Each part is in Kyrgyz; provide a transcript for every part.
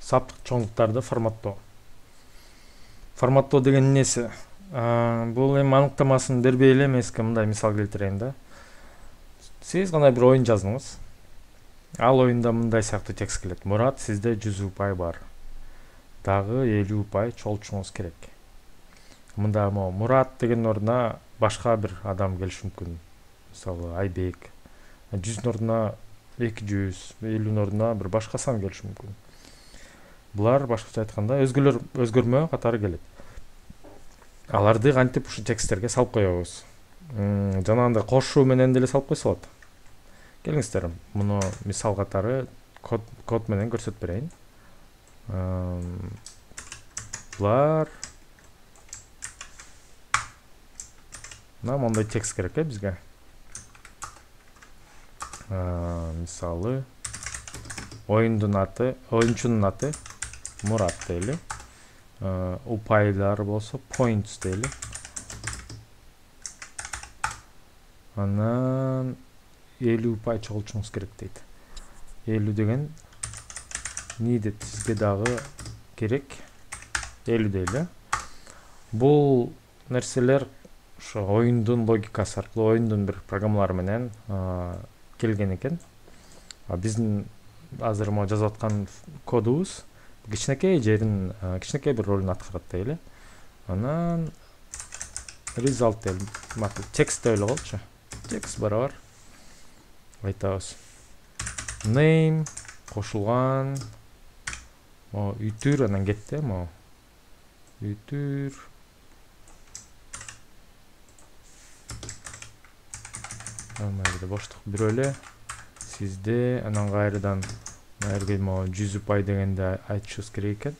саптык чоңдуктарды форматтоо деген эмнеси? Бул эми аныктамасын бербей эле мен сизге мындай мисал келтирейин да. Сиз кандай бир оюн жаздыңыз. Ал оюнда мындай сыяктуу текст келет. Мурат, сизде 100 упай бар. Дагы 50 упай чогултушуңуз керек. Мында Мурат деген ордуна башка бир адам келиши мүмкүн. Мисалы Айбек. 100 ордуна 200, 50 ордуна бир башка сан келиши мүмкүн. Булар башкача айтканда өзгөлөр өзгөрмө катары келет. Аларды кантип ушу тексттерге салып коебуз. Жанагындай кошуу менен деле салып койсо болот. Келиңиздер, муну мисал катары код менен көрсөтүп берейин. Булар мондай текст керек бизге. Мисалы оюнчунун аты Мурат дейли. Упайлар болсо points дейли. Анан 50 упай чогултушуңуз керек дейт. 50 деген needed, сизге дагы керек 50 дейли. Бул нерселер ошо оюндун логикасы аркылуу, оюндун бир программалары менен келген экен. Биздин азыр жазып аткан кодубуз кичинекей жерин, кичинекей бир ролун аткарат дейли. Анан result дейли. Макул текст деп эле коелучу. Текст барабар айтабыз. Name кошулган. Үтүр анан кетти, үтүр. Мына боштук бирөө эле. Сизде анан кайрадан Мэрге 100 упай дегенде айтышыбыз керек экен.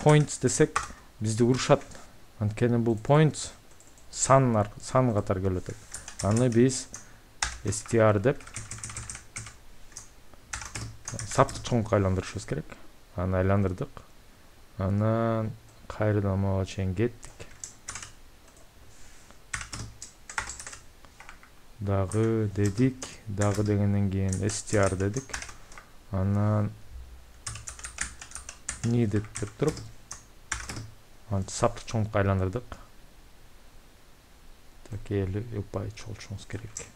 Points десек, бизди урушат. Анткени бул points сан катары келет. Аны биз str деп саптык чоңдукка айландырышыбыз керек. Аны айландырдык. Анан кайрадан мага чейин кеттик. Дагы дедик, дагы дегенден кийин str дедик. Анан needed деп туруп, саптык чоңдукка айландырдык. Так, 50 упай чогултушуңуз керек.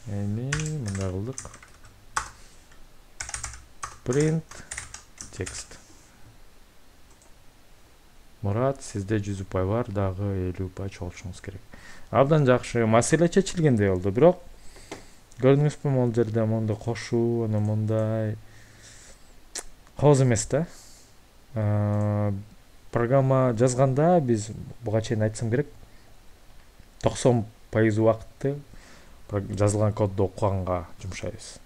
Эми мындай кылдык. Print text. Мурат, сизде 100 упай бар, дагы 50 упай чогултушуңуз керек. Абдан жакшы маселе чечилгендей болду, бирок көрдүңүзбү, могул жерде мондай кошуу, анан мондай кооз эмес да. Программа жазганда биз буга чейин айтсам керек, 90% убакытты жазылган кодду окуганга жумшайбыз.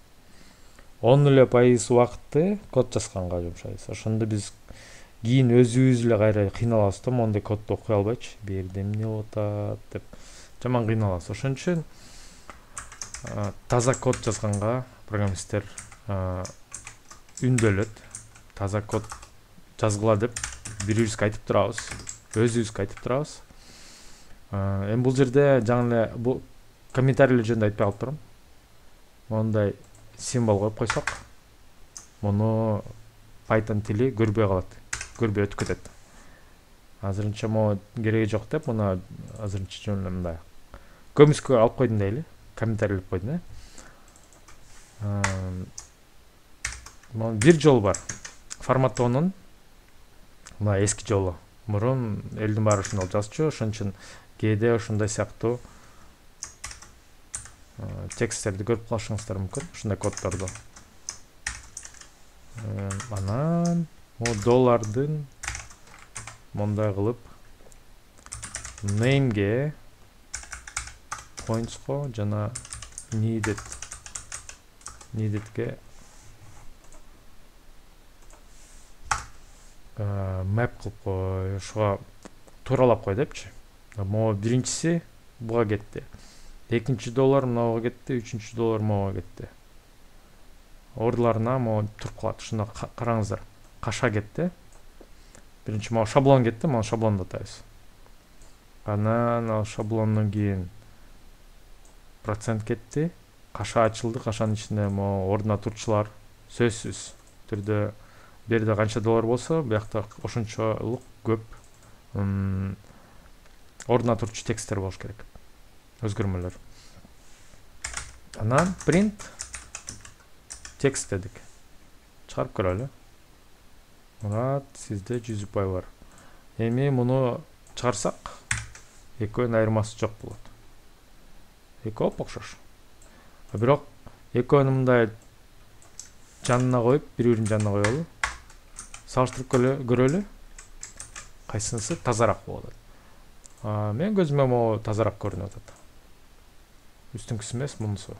10% убакытты код жазганга жумшайбыз. Ошондо биз кийин өзүбүз эле кайра кыйналабыз да, мондай кодду окуй албайчы, бу жерде эмне болуп атат деп жаман кыйналабыз. Ошон үчүн таза код жазганга программисттер үндөлөт. Таза код жазгыла деп бирибизге айтып турабыз, өзүбүзгө айтып турабыз. Эми бул жерде жаңы эле бул комментарийлер жөнүндө айтпай калып турам. Мондай символ коюп койсок, муну Python тили көрбөй калат, көрбөй өтүп кетет. Азырынча кереги жок деп, муну азырынча жөн эле мындай көмүскө алып койдум дейли, комментарийлеп койдум. Бир жол бар. Форматтоонун мына эски жолу. Мурун элдин баары ушундой жазчу, ошон үчүн кээде ошондой сыяктуу тексттерди көрүп калышыңыздар мүмкүн, ушундай коддорду. Анан доллардын мондай кылып name'ге, points'ко жана needed'ге map кылып кой, ошого тууралап кой депчи. Могу биринчиси буга кетти. Экинчи доллар мынага кетти, үчүнчү доллар мага кетти. Ордуларына могу туруп калат. Ушунда караңыздар. Каша кетти. Биринчи могу шаблон кетти, могу шаблонду атайбыз. Анан ал шаблондон кийин процент кетти. Каша ачылды, кашанын ичинде могу ордуна турчулар сөзсүз түрдө бул жерде канча доллар болсо, биякта ошончолук көп ордуна турчу тексттер болуш керек, өзгөрмөлөр. Анан print текст дедик. Чыгарып көрөлү. Мурат, сизде 100 упай бар. Эми муну чыгарсак, экөөнүн айырмасы жок болот. Экөө окшош. Бирок экөөнү мындай жанына коюп, бири-биринин жанына коелу. Салыштырып көрөлү. Кайсынысы тазараак болот. Мен көзүмө могу тазараак көрүнүп атат. Үстүңкүсү эмес, мунусу.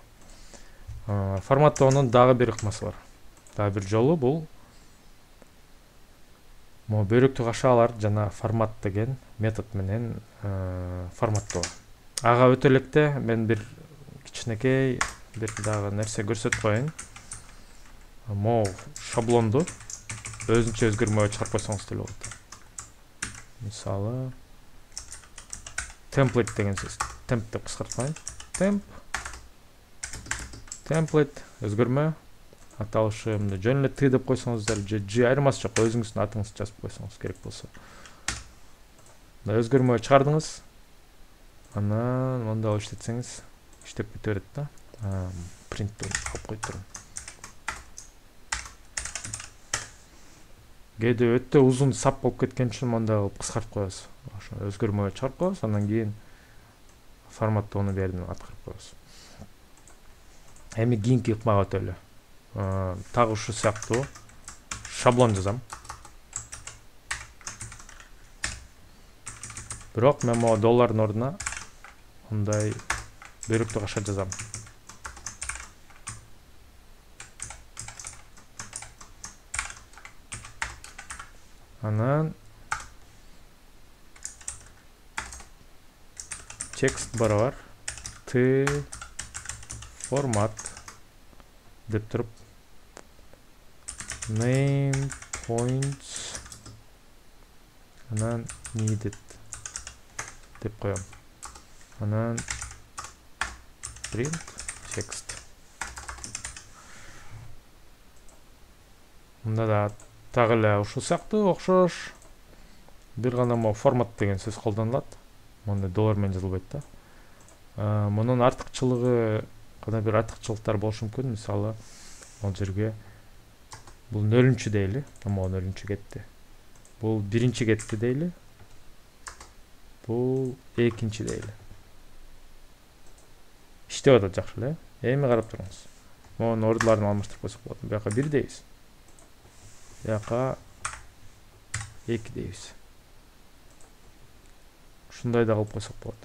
Форматтоонун дагы бир ыкмасы бар. Дагы бир жолу бул могу бөйрөктүк кашалар жана формат деген метод менен форматтоо. Ага өтө электе мен бир кичинекей бир дагы нерсе көрсөтүп коеюн. Могу шаблонду өзүнчө өзгөрмөгө чыгарып койсоңуз деле болот. Мисалы, template деген сөз. Temp деп кыскартпайын. Template өзгөрмө аталышы мындай жөн эле T деп койсоңуздар, же айырмасы жок, өзүңүздүн атыңызды жазып койсоңуз керек болсо. Мындай өзгөрмө чыгардыңыз. Анан мындай иштетсеңиз, иштеп кете берет да. Принттен алып коюп турам. Кээде өтө узун сап болуп кеткен үчүн мындай кылып кыскартып коебуз. Ошо өзгөрмө чыгарып коебуз, андан кийин форматтоону бердин аткарып коебуз. Эми кийинки ыкмага өтөлү. Тагы ушу сыяктуу шаблон жазам. Бирок мен могу доллардын ордуна мындай бөйрөктүк каша жазам. Анан текст барабар T формат деп туруп name points анан needed деп коем. Анан print text. Мында да тагы эле ушул сыяктуу окшош. Бир гана могу формат деген сөз колдонулат. Монда доллар менен жазылбайт да. Мунун артыкчылыгы, кандай бир артыкчылыктар болушу мүмкүн. Мисалы, бул жерге бул 0-чү дейли, могу 0-чү кетти. Бул 1-чи кетти дейли. Бул 2-чи дейли. Иштеп атат жакшы эле. Эми карап туруңуз. Монун ордуларын алмаштырып койсок болот. Бияка 1 дейбиз. Бияка 2 дейбиз. Ушундай да кылып койсок болот.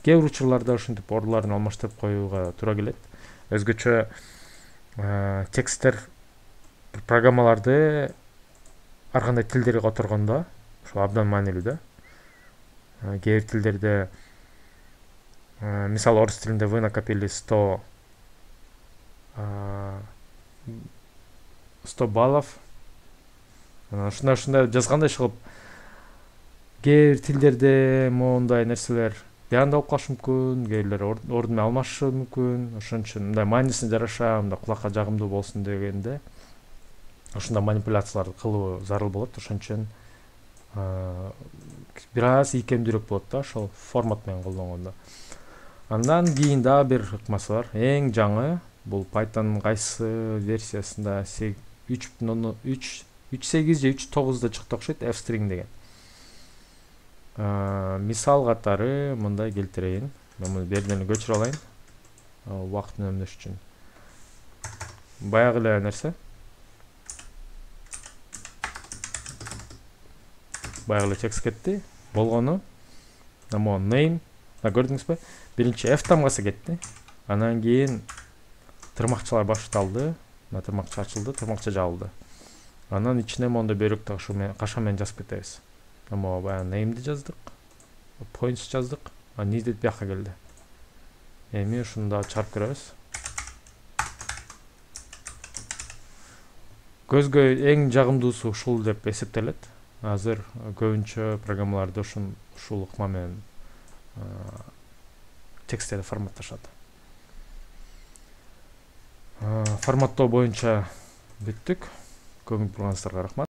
Кээ бир учурларда ушинтип ордуларын алмаштырып коюуга туура келет. Өзгөчө тексттер программаларды ар кандай тилдерге которгондо ошол абдан маанилүү да. Кээ бир тилдерде мисалы орус тилинде вы накопили 100 баллов. Ушундай жазгандай кылып кээ бир тилдерде моундай нерселер баанда болуп калышы мүмкүн, кээ бирлер ордун алмашы мүмкүн. Ошон үчүн мындай маанисине жараша, мындай кулакка жагымдуу болсун дегенде ушундай манипуляцияларды кылуу зарыл болот. Ошон үчүн бир аз ийкемдүүрөөк болот да ошол формат менен колдонгондо. Андан кийин дагы бир ыкмасы бар. Эң жаңы бул Python'ун кайсы версиясында 3.3 3.8 же 3.9да чыкты окшойт, f-string деген. Мисал катары мындай келтирейин. Мен муну берден көчүрүп алайын. Убакытын өнөмдөш үчүн. Баягы эле нерсе. Баягы эле текст кетти. Болгону. Нamo name. Көрдүңүзбү? Биринчи f тамгасы кетти. Анан кийин тырмакчалар башталды. Тырмакча ачылды, тырмакча жабылды. Анан ичине монда бөйрөктүк каша менен жазып кетебиз. Ama bayağı name'di жаздык. Points жаздык. Needed бияка келди. Эми ушунда чарп көрөбүз. Көзгө эң жагымдуусу ушул деп эсептелет. Азыр көбүнчө программаларды ушул ыкма менен тексттерди форматташат. Форматтоо боюнча бүттүк. көңүл бурганыңыздарга рахмат.